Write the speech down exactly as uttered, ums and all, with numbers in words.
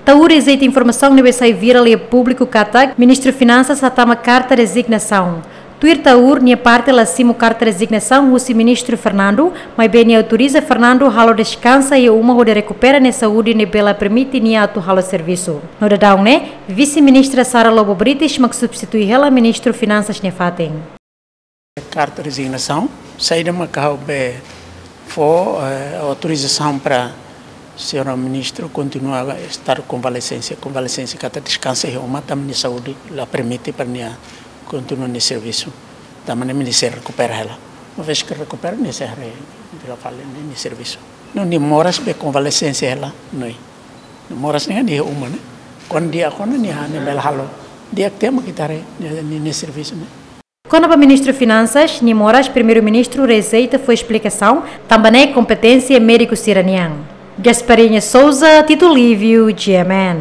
Taur rejeita informasaun ne'ebé sai virál iha públiku katak Ministru Finansas hatama karta rezignasaun. Tuir Taur nia parte la simu karta rezignasaun husi Ministru Fernando, maibé nia autoriza Fernando halo deskansa iha uma hodi rekupera nia saúde ne'ebé la permite nia atu halo servisu. No daudaun ne'e, Vise-Ministra Sara Lobo Brites mak substitui hela Ministru Finansas nia fatin. Karta rezignasaun, saida mak ha'u be fó, eh, autorizasaun para señora ministru kontinua estar konvalesénsia, konvalesénsia katak deskansa iha uma, tanba nia saúde la permite para nia kontinua nia servisu. Tanba ne'e nia sei rekupera hela. Uma vez ke rekupera, nia sei haree fila fali nia, nia servisu. No nia moras be konvalesénsia hela, no nia moras ne'e iha uma ne'e. Kuandu di'ak ona nia, nia bele halo. Di'ak tiha mak ita haree nia, nia, nia servisu ne'e. Kona-ba Ministru Finansas, nia moras Primeiru-Ministru rejeita fó esplikasaun, tanba ne'e kompeténsia médiku sira-nian. Gasparinha Souza, Tito Lívio, G M N.